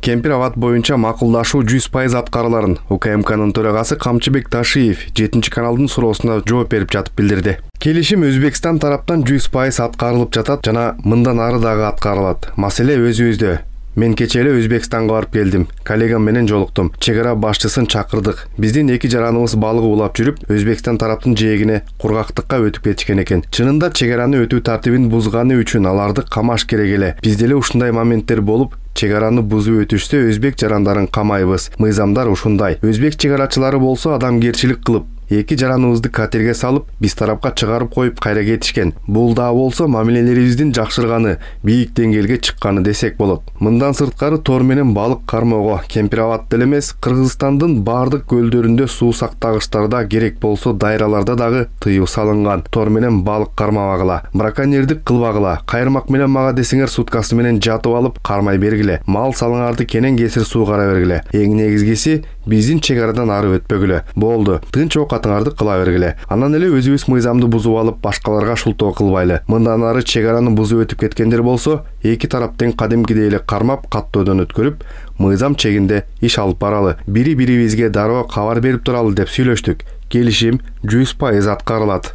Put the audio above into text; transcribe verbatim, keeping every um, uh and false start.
Кемпир Абад боюнча макулдашуу жүз пайыз аткарыларын УКМКнын төрагасы Камчыбек Ташиев жетинчи каналдын суроосуна жооп берип жатып билдирди. Келишим Өзбекстан тараптан жүз пайыз аткарылып жатат жана мындан ары дагы аткарылат. Маселе өзүбүздө. Мен кече эле Өзбекстанга барып келдим. Коллегам менен жолуктум. Чек ара башчысын чакырдык. Биздин эки жараныбыз балык улап жүрүп, Өзбекстан тараптын жээгине кургактыкка өтүп кетишкен экен. Чынында чек араны өтүү тартибин бузганы үчүн аларды камаш керек эле. Бизде эле ушундай моменттер болуп, чек араны бузуп өтүшсө өзбек жарандарын камайбыз. Мыйзамдар ушундай. Өзбек чек арачылары болсо адамгерчилик кылып, эки жараныбызды катерге салып, биз тарапка чыгарып коюп кайра кетишкен. Бул да болсо мамилелерибиздин жакшырганы, бийик деңгээлге чыкканы десек болот. Мындан сырткары тор менен балык кармоого Кемпир Абадта эле эмес, Кыргызстандын бардык көлдөрүндө суу сактагычтарда керек болсо дайраларда дагы тыюу салынган. Тор менен балык кармабагыла, браконьердик кылбагыла. Кайырмак менен мага десеңер суткасы менен жатып алып кармай бергиле. Мал салыңарды кенен кесир суу кара бергиле. Эң негизгиси биздин чек арадан ары өтпөгүлө. Болду. Тынч окатыңарды кыла бергиле. Анан эле өзүбүз мыйзамды бузуп алып, башкаларга шултоо кылбайлы. Мындан ары чек араны бузуп өтүп кеткендер болсо, эки тарап тең кадимкидей эле кармап, каттоодон өткөрүп, мыйзам чегинде иш алып баралы. Бири-бирибизге дароо кабар берип туралы деп сүйлөштүк. Келишим жүз пайыз аткарылат.